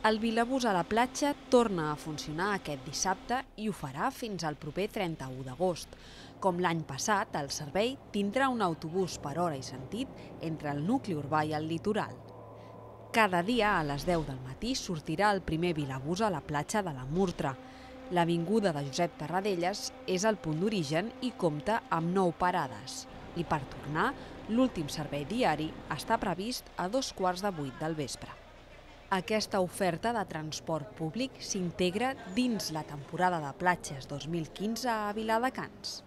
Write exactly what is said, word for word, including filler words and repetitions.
El Vilabús a la platja torna a funcionar aquest dissabte i ho farà fins al proper trenta-u d'agost. Com l'any passat, el servei tindrà un autobús per hora i sentit entre el nucli urbà i el litoral. Cada dia a les deu del matí sortirà el primer Vilabús a la platja de la Murtra. L'avinguda de Josep Tarradellas és el punt d'origen i compta amb nou parades. I per tornar, l'últim servei diari està previst a dos quarts de vuit del vespre. Aquesta oferta de transport públic s'integra dins la temporada de platges dos mil quinze a Viladecans.